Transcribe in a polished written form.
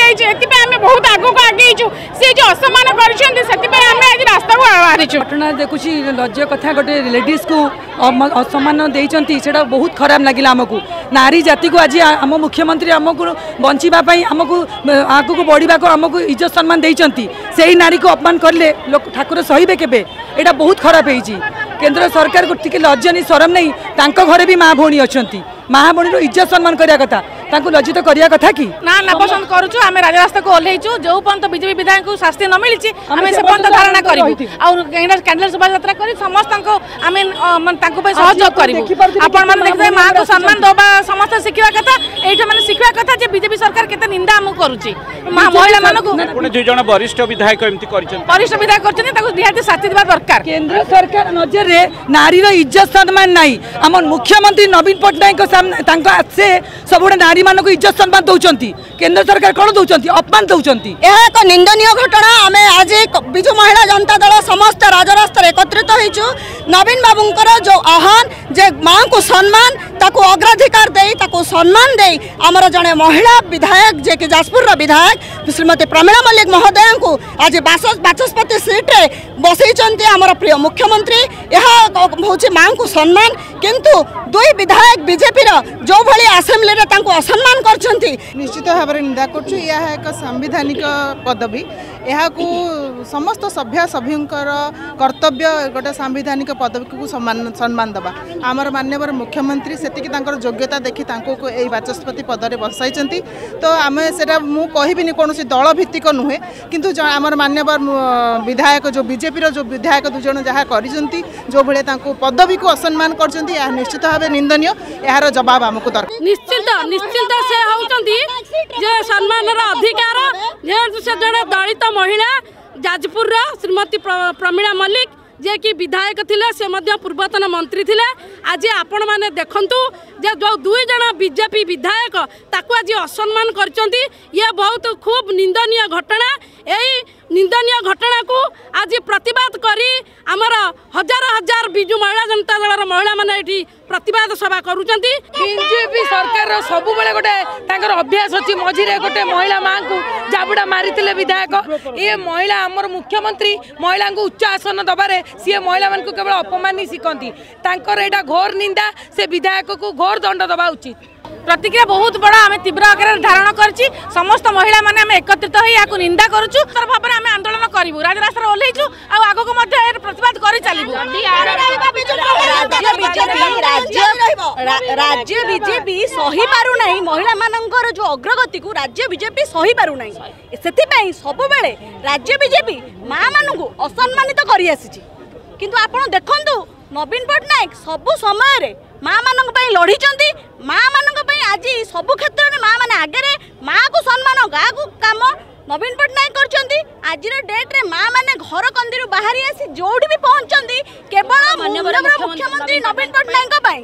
ଦିଆଯାଇଛି। ଏଥିପାଇଁ ଆମେ ବହୁତ ଆଗକୁ ଆଗେଇଛୁ। ସେ ଯେଉଁ ଅସମ୍ମାନ କରିଛନ୍ତି, ସେଥିପାଇଁ ଆମେ ଆଜି ରାସ୍ତାକୁ ବାହାରିଛୁ। ଘଟଣା ଦେଖୁଛି, ଲଜ୍ଜା କଥା। ଗୋଟେ ଲେଡିଜ୍କୁ ଅସମ୍ମାନ ଦେଇଛନ୍ତି, ସେଇଟା ବହୁତ ଖରାପ ଲାଗିଲା ଆମକୁ। ନାରୀ ଜାତିକୁ ଆଜି ଆମ ମୁଖ୍ୟମନ୍ତ୍ରୀ ଆମକୁ ବଞ୍ଚିବା ପାଇଁ, ଆମକୁ ଆଗକୁ ବଢ଼ିବାକୁ ଆମକୁ ଇଜ୍ଜତ ସମ୍ମାନ ଦେଇଛନ୍ତି। ସେଇ ନାରୀକୁ ଅପମାନ କଲେ ଲୋକ ଠାକୁର ସହିବେ କେବେ? ଏଇଟା ବହୁତ ଖରାପ ହେଇଛି। କେନ୍ଦ୍ର ସରକାରକୁ ଟିକେ ଲଜ୍ଜା ନେଇ, ସରମ ନେଇ, ତାଙ୍କ ଘରେ ବି ମା ଭଉଣୀ ଅଛନ୍ତି। ମା ଭଉଣୀର ଇଜ୍ଜତ ସମ୍ମାନ କରିବା କଥା, ତାଙ୍କୁ ଲଜ୍ଜିତ କରିବା କଥା କି? ନା, ନାପସନ୍ଦ କରୁଛୁ। ଆମେ ରାଜରାସ୍ତାକୁ ଓହ୍ଲେଇଛୁ। ଯୋଉ ପର୍ଯ୍ୟନ୍ତ ବିଜେପି ବିଧାୟକଙ୍କୁ ଶାସ୍ତି ନ ମିଳିଛି, ଆମେ ସେ ପର୍ଯ୍ୟନ୍ତ ଧାରଣା କରିବୁ ଆଉ କ୍ୟାଣ୍ଡେଲ ଶୋଭାଯାତ୍ରା କରି ସମସ୍ତଙ୍କୁ ଆମେ ତାଙ୍କ ପାଇଁ ସହଯୋଗ କରିବୁ। ଆପଣମାନେ ଦେଖିବେ, ମାଆକୁ ସମ୍ମାନ ଦେବା ସମସ୍ତେ ଶିଖିବା କଥା। ଏଇଟା ମାନେ ଶିଖିବା କଥା ଯେ ବିଜେପି ସରକାର କେତେ ନିନ୍ଦା ଆମକୁ କରୁଛି ମା ମହିଳାମାନଙ୍କୁ। ପୁଣି ଦୁଇ ଜଣ ବରିଷ୍ଠ ବିଧାୟକ ଏମିତି କରିଛନ୍ତି। ବରିଷ୍ଠ ବିଧାୟକ କରିଛନ୍ତି, ତାକୁ ନିହାତି ଶାସ୍ତି ଦେବା ଦରକାର। କେନ୍ଦ୍ର ସରକାର ନଜରରେ ନାରୀର ଇଜ୍ଜତ ସମ୍ମାନ ନାହିଁ। ଆମ ମୁଖ୍ୟମନ୍ତ୍ରୀ ନବୀନ ପଟ୍ଟନାୟକଙ୍କ ତାଙ୍କ ସେ ସବୁବେଳେ ନାରୀମାନଙ୍କୁ ଇଜ୍ଜତ ସମ୍ମାନ ଦେଉଛନ୍ତି। କେନ୍ଦ୍ର ସରକାର କ'ଣ ଦେଉଛନ୍ତି? ଅପମାନ ଦେଉଛନ୍ତି। ଏହା ଏକ ନିନ୍ଦନୀୟ ଘଟଣା। ଆମେ ଆଜି ବିଜୁ ମହିଳା ଜନତା ଦଳ ସମସ୍ତ ରାଜରାସ୍ତାରେ ଏକତ୍ରିତ ହୋଇଛୁ। ନବୀନ ବାବୁଙ୍କର ଯେଉଁ ଆହ୍ୱାନ ଯେ ମାଆଙ୍କୁ ସମ୍ମାନ, ତାକୁ ଅଗ୍ରାଧିକାର ଦେଇ, ତାକୁ ସମ୍ମାନ ଦେଇ ଆମର ଜଣେ ମହିଳା ବିଧାୟକ, ଯିଏକି ଯାଜପୁରର ବିଧାୟକ ଶ୍ରୀମତୀ ପ୍ରମିଳା ମଲ୍ଲିକ ମହୋଦୟାଙ୍କୁ ଆଜି ବାଚସ୍ପତି ସିଟ୍ରେ ବସେଇଛନ୍ତି ଆମର ପ୍ରିୟ ମୁଖ୍ୟମନ୍ତ୍ରୀ। ଏହା ହେଉଛି ମାଆଙ୍କୁ ସମ୍ମାନ। କିନ୍ତୁ ଦୁଇ ବିଧାୟକ ବିଜେପିର ଯେଉଁଭଳି ଆସେମ୍ବଲିରେ ତାଙ୍କୁ ଅସମ୍ମାନ କରିଛନ୍ତି, ନିଶ୍ଚିତ ଭାବରେ ନିନ୍ଦା କରୁଛୁ। ଏହା ଏକ ସାମ୍ବିଧାନିକ ପଦବୀ। ଏହାକୁ ସମସ୍ତ ସଭ୍ୟା ସଭ୍ୟଙ୍କର କର୍ତ୍ତବ୍ୟ ଗୋଟେ ସାମ୍ବିଧାନିକ ପଦବୀକୁ ସମ୍ମାନ ଦେବା। ଆମର ମାନ୍ୟବର ମୁଖ୍ୟମନ୍ତ୍ରୀ ସେତିକି ତାଙ୍କର ଯୋଗ୍ୟତା ଦେଖି ତାଙ୍କୁ ଏଇ ବାଚସ୍ପତି ପଦରେ ବସାଇଛନ୍ତି। ତ ଆମେ ସେଟା ମୁଁ କହିବିନି, କୌଣସି ଦଳ ଭିତ୍ତିକ ନୁହେଁ, କିନ୍ତୁ ଆମର ମାନ୍ୟବର ବିଧାୟକ ଯେଉଁ ବିଜେପିର ଯେଉଁ ବିଧାୟକ ଦୁଇଜଣ ଯାହା କରିଛନ୍ତି, ଯେଉଁଭଳିଆ ତାଙ୍କୁ ପଦବୀକୁ ଅସମ୍ମାନ କରିଛନ୍ତି, ଏହା ନିଶ୍ଚିତ ଭାବେ ନିନ୍ଦନୀୟ। ଏହାର ଜବାବ ଆମକୁ ଦରକାର। ନିଶ୍ଚିନ୍ତ ନିଶ୍ଚିନ୍ତ, ସେ ହେଉଛନ୍ତି ଯେ ସମ୍ମାନର ଅଧିକାର, ଯେହେତୁ ସେ ଜଣେ ଦଳିତ ମହିଳା, ଯାଜପୁରର ଶ୍ରୀମତୀ ପ୍ରମିଳା ମଲ୍ଲିକ, ଯିଏକି ବିଧାୟକ ଥିଲେ, ସେ ମଧ୍ୟ ପୂର୍ବତନ ମନ୍ତ୍ରୀ ଥିଲେ। ଆଜି ଆପଣମାନେ ଦେଖନ୍ତୁ ଯେ ଯେଉଁ ଦୁଇ ଜଣ ବିଜେପି ବିଧାୟକ ତାକୁ ଆଜି ଅସମ୍ମାନ କରିଛନ୍ତି, ଇଏ ବହୁତ ଖୁବ୍ ନିନ୍ଦନୀୟ ଘଟଣା। ଏଇ ନିନ୍ଦନୀୟ ଘଟଣାକୁ ଆଜି ପ୍ରତିବାଦ କରି ଆମର ହଜାର ହଜାର ବିଜୁ ମହିଳା ଜନତା ଦଳର ମହିଳାମାନେ ଏଠି ପ୍ରତିବାଦ ସଭା କରୁଛନ୍ତି। ବିଜେପି ସରକାରର ସବୁବେଳେ ଗୋଟେ ତାଙ୍କର ଅଭ୍ୟାସ ଅଛି। ମଝିରେ ଗୋଟେ ମହିଳା ମାଙ୍କୁ ଜାବୁଡ଼ା ମାରିଥିଲେ ବିଧାୟକ। ଇଏ ମହିଳା, ଆମର ମୁଖ୍ୟମନ୍ତ୍ରୀ ମହିଳାଙ୍କୁ ଉଚ୍ଚ ଆସନ ଦେବାରେ ସିଏ ମହିଳାମାନଙ୍କୁ କେବଳ ଅପମାନ ହିଁ ଶିଖନ୍ତି। ତାଙ୍କର ଏଇଟା ଘୋର ନିନ୍ଦା। ସେ ବିଧାୟକକୁ ଘୋର ଦଣ୍ଡ ଦେବା ଉଚିତ। ପ୍ରତିକ୍ରିୟା ବହୁତ ବଡ଼, ଆମେ ତୀବ୍ର ଆକାରରେ ଧାରଣ କରିଛି। ସମସ୍ତ ମହିଳାମାନେ ଆମେ ଏକତ୍ରିତ ହୋଇ ଏହାକୁ ନିନ୍ଦା କରୁଛୁ। ଭାବରେ ଆମେ ଆନ୍ଦୋଳନ କରିବୁ, ରାଜରାସ୍ତାରେ ଓହ୍ଲେଇଛୁ ଆଉ ଆଗକୁ ମଧ୍ୟ ଏହାର ପ୍ରତିବାଦ କରି ଚାଲିବୁ। ରାଜ୍ୟ ବିଜେପି ସହିପାରୁନାହିଁ ମହିଳାମାନଙ୍କର ଯେଉଁ ଅଗ୍ରଗତିକୁ, ରାଜ୍ୟ ବିଜେପି ସହିପାରୁନାହିଁ। ସେଥିପାଇଁ ସବୁବେଳେ ରାଜ୍ୟ ବିଜେପି ମା ମାନଙ୍କୁ ଅସମ୍ମାନିତ କରିଆସିଛି। କିନ୍ତୁ ଆପଣ ଦେଖନ୍ତୁ, ନବୀନ ପଟ୍ଟନାୟକ ସବୁ ସମୟରେ ମା ମାନଙ୍କ ପାଇଁ ଲଢ଼ିଛନ୍ତି। ମା ମାନଙ୍କ ପାଇଁ ଆଜି ସବୁ କ୍ଷେତ୍ରରେ ମା ମାନେ ଆଗରେ। ମାଆକୁ ସମ୍ମାନ, ଗାଁକୁ କାମ ନବୀନ ପଟ୍ଟନାୟକ କରିଛନ୍ତି। ଆଜିର ଡେଟ୍ରେ ମା ମାନେ ଘର କନ୍ଦିରୁ ବାହାରି ଆସି ଯୋଉଠି ବି ପହଞ୍ଚନ୍ତି, କେବଳ ମୁଖ୍ୟମନ୍ତ୍ରୀ ନବୀନ ପଟ୍ଟନାୟକଙ୍କ ପାଇଁ।